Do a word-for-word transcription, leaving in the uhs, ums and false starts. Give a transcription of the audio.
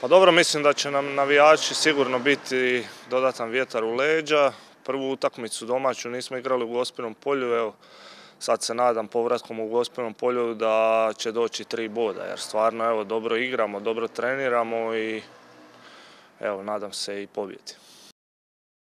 Pa dobro, mislim da će nam navijači sigurno biti dodatan vjetar u leđa. Prvu utakmicu domaću nismo igrali u Gospinom polju, evo sad se nadam povratkom u Gospinom polju da će doći tri boda, jer stvarno evo dobro igramo, dobro treniramo i evo nadam se i pobjedi.